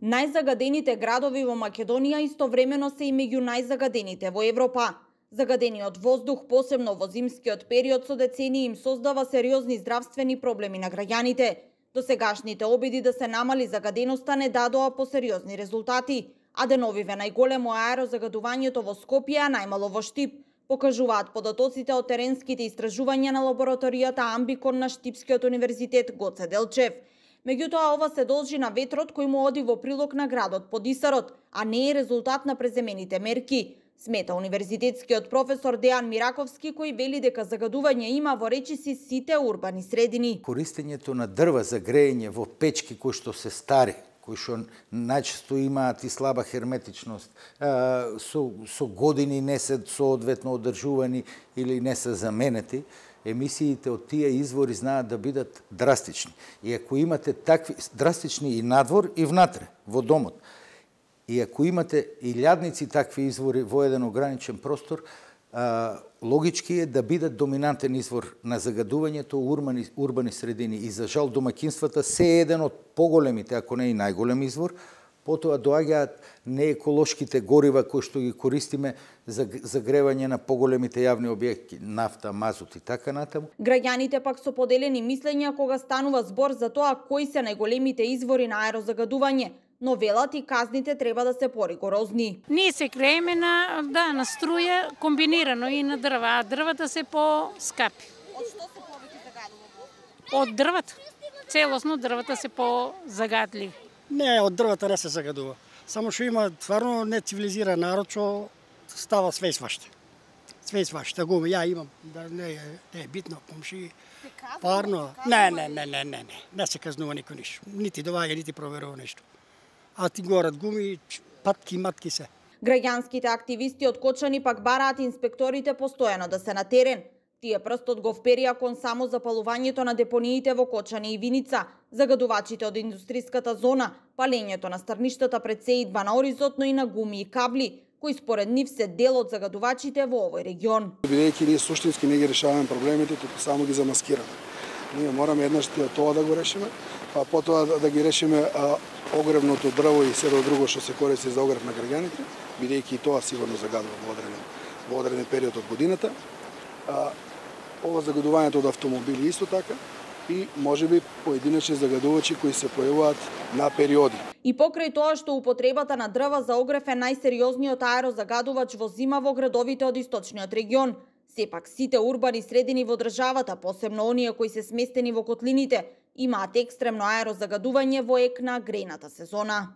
Најзагадените градови во Македонија истовремено се и меѓу најзагадените во Европа. Загадениот воздух, посебно во зимскиот период, со децении им создава сериозни здравствени проблеми на граѓаните. Досегашните обиди да се намали загаденоста не дадоа по сериозни резултати, а деновиве најголемо аерозагадувањето во Скопје, а најмало во Штип, покажуваат податоците од теренските истражувања на лабораторијата Амбикон на Штипскиот универзитет Гоце Делчев. Меѓутоа, ова се должи на ветрот кој му оди во прилог на градот Подисарот, а не е резултат на преземените мерки, смета универзитетскиот професор Дејан Мираковски, кој вели дека загадување има во речиси сите урбани средини. Користењето на дрва за грејење во печки кои што се стари, кои што најчесто имаат и слаба херметичност, со години не се соодветно одржувани или не се заменети, емисиите од тие извори знаат да бидат драстични. И ако имате такви драстични и надвор и внатре, во домот, и ако имате и лјадници такви извори во еден ограничен простор, логички е да бидат доминантен извор на загадувањето урбани средини. И за жал домакинствата се еден од поголемите, ако не и најголем извор. Потоа доаѓаат нееколошките горива кои што ги користиме за загревање на поголемите јавни објекти, нафта, мазут и така натаму. Граѓаните пак со поделени мислења кога станува збор за тоа кои се најголемите извори на аерозагадување, но велат и казните треба да се поригорозни. Ние се грееме на струја комбинирано и на дрва, а дрвата се по-скапи. Од што се повеќе загадува? Од дрвата. Целосно дрвата се по-загадливи. Не, од дрвата не се загадува. Само што има тварно нецивилизиран народ што става све сваште. Све сваште, гуми, ја имам, да не е битно, комши. Парно. Не се казнува никој ништо. Нити доваѓа, нити проверува нешто. А ти горат гуми, патки, матки се. Граѓанските активисти од Кочани пак бараат инспекторите постојано да се на терен. Тие прстот го вперија кон само запалувањето на депониите во Кочани и Виница, загадувачите од индустриската зона, палењето на старништата пред сеидба на Оризот, но и на гуми и кабли, кои според нив се дел од загадувачите во овој регион. Бидејќи ние суштински не ги решаваме проблемите, туку само ги замаскираме. Ние мораме еднаш тоа да го решиме, па потоа да ги решиме огревното дрво и се друго што се користи за огрев на граѓаните, бидејќи и тоа сигурно загадува во одреден период од годината. Ова загадувањето од автомобили исто така и можеби поединечни загадувачи кои се појавуваат на периоди. И покрај тоа што употребата на дрва за огрев е најсериозниот аерозагадувач во зима во градовите од источниот регион, сепак сите урбани средини во државата, посебно оние кои се сместени во котлините, имаат екстремно аерозагадување во ек на грејната сезона.